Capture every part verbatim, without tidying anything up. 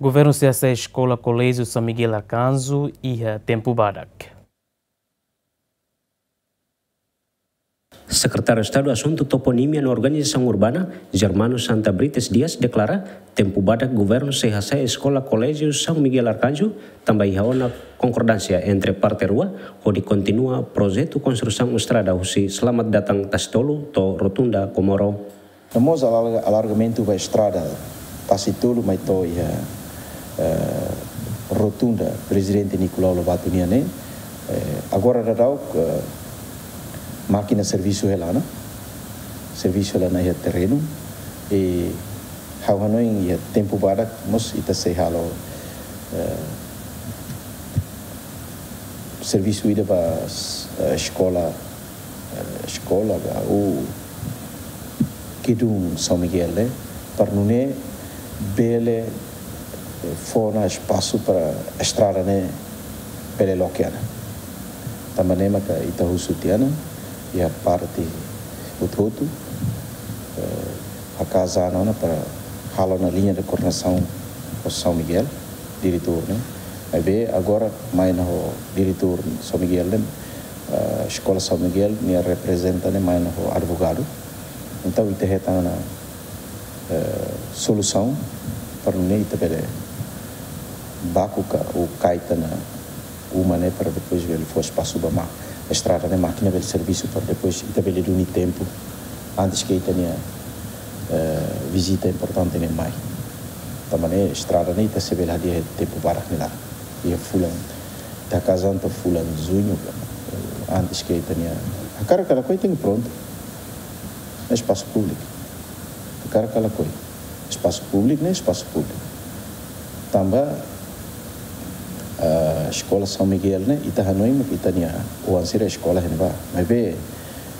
Governu sei hasa'e Eskola Koléjiu São Miguel Arcanjo iha tempu badak. Sekretáriu Estadu Asuntu Toponímia no Organizasaun Urbana, Germano Santa Brites Dias, deklara tempu badak governu sei hasa'e Eskola Koléjiu São Miguel Arcanjo, tanba iha ona konkordánsia entre parte rua, hodi kontinua projetu konstrusaun estrada husi Selamat Datang Tasi Tolu to'o Rotunda Comoro. No mós alarga-, alargamentu ba estrada Tasi Tolu mai to'o iha, eh, Rotunda Prezidente Nicolau Lobato nian ne'e, eh, agora daudaun, eh, mákina servisu hela ona, servisu hela ona iha terrenu, i ha'u hanoin iha tempu badak mós ita sei halo, eh, servisu ida ba, eh, eskola, eh, eskola ba, ou gedung São Miguel ne'e, para nune'e bele, eh, fó ona espasu para estrada ne'e bele loke ona. Tanba ne'e maka ita husu tiha ona, iha parte hotu-hotu, eh, hakaas an ona para halo ona liña de koordenasaun ho São Miguel, diretór ne'e. Maibé agora mai ona ho diretór São Miguel ne'e, eh, Eskola São Miguel nia reprezentante mai ona ho advogadu. Entaun ita hetan ona, eh, solusaun para nune'e ita bele baku ka ou kaita ona uma ne'e para depois bele fó espasu ba ma-, estrada ne'e mákina bele servisu para depois ita bele duni tempu antes ke ita-nia, eh, vizita importante ne'e mai. Tanba ne'e estrada ne'e ita sei bele hadi'a iha tempu badak nia laran. Iha fulan, ita hakaas an to'o fulan juñu, eh, antes ke ita-nia, hakarak ka lakohi tenke prontu. Espasu públiku. Hakarak ka lakohi. Espasu públiku ne'e espasu públiku. Tanba, ah, Eskola São Miguel ne'e, ita hanoin mak ita-nia oan sira eskola iha ne'ebá. Maibé,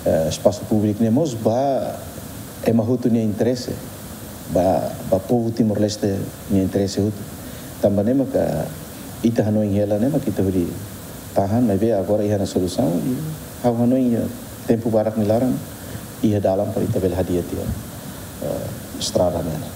ah, espasu públiku ne'e mós ba ema hotu nia interese, ba, ba povu Timor-Leste nia interese hotu. Tanba ne'e maka ita hanoin hela ne'e mak ita hodi tahan, maibé agora iha ona solusaun, i ha'u hanoin iha tempu badak nia laran, iha dalan para ita bele hadi'a tiha, eh, estrada ne'e.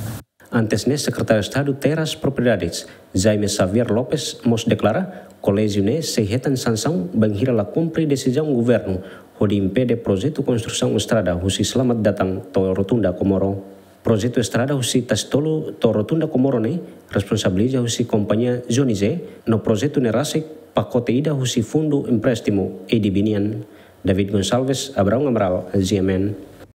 Antes ne'e, Sekretáriu Estadu Terras Propriedades, Jaime Xavier Lopes, mós deklara, koléjiu ne'e sei hetan sansaun bainhira la kumpre desizaun governu hodi impede projetu konstrusaun estrada husi Selamat Datang to'o Rotunda Comoro. Projetu estrada husi Tasi Tolu to'o Rotunda Comoro ne'e responsabiliza husi kompañia Johnny Zé, no projetu ne'e rasik pakote ida husi Fundu Empréstimu A D B nian. David Gonçalves, Abraão Amaral, G M N.